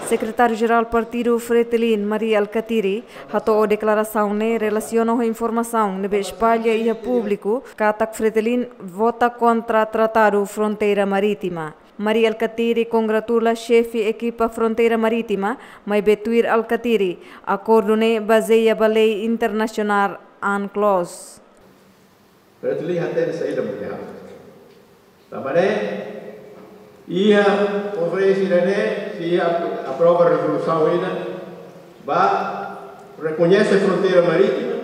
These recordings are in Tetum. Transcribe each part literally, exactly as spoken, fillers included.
Sekretáriu-Jerál Partidu Fretilin, Mari Alkatiri, hato'o deklarasaun ne'e relasiona ho informasaun ne'ebé espalla iha públiku katak Fretilin vota kontra Tratadu Fronteira Marítima. Mari Alkatiri kongratula xefe ekipa Fronteira Marítima, maibé tuir Alkatiri, akordu ne'e bazeia ba lei internasionál UNCLOS. Fretilin hatene saida mak iha. Tanba ne'e, iha konferénsia ida-ne'e, sei ap-, aprova rezolusaun ida, ba rekoñese fronteira marítima,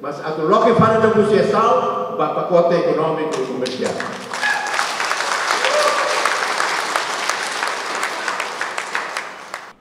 mas atu loke fali negosiasaun ba pakote ekonómiku i komersiál.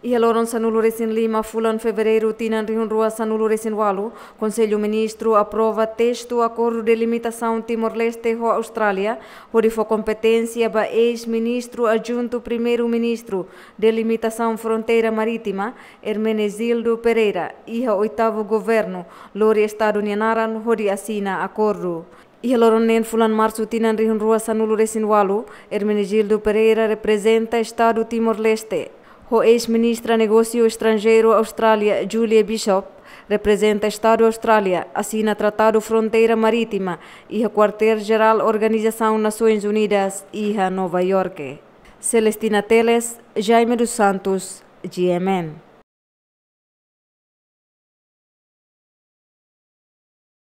Iha loron sanulu-resin-lima fulan Fevereiru tinan rihun rua sanulu-resin-ualu, Konsellu Ministru aprova testu akordu delimitasaun Timor-Leste ho Austrália, hodi fó kompeténsia ba eis-ministru adjuntu Primeiru-Ministru delimitasaun fronteira marítima, Hermenegildo Pereira, iha oitavu governu, lori Estadu nia naran hodi asina akordu. Iha loron neen fulan Marsu tinan rihun rua sanulu-resin-ualu, Hermenegildo Pereira reprezenta Estadu Timor-Leste. Ho eis-ministra Negósiu Estranjeiru Austrália, Julie Bishop, reprezenta Estadu Austrália, asina Tratadu Fronteira Marítima iha Kuartél-Jerál Organizasaun Nasoins Unidas iha Nova Iorke. Celestina Teles, Jaime dos Santos, G M N.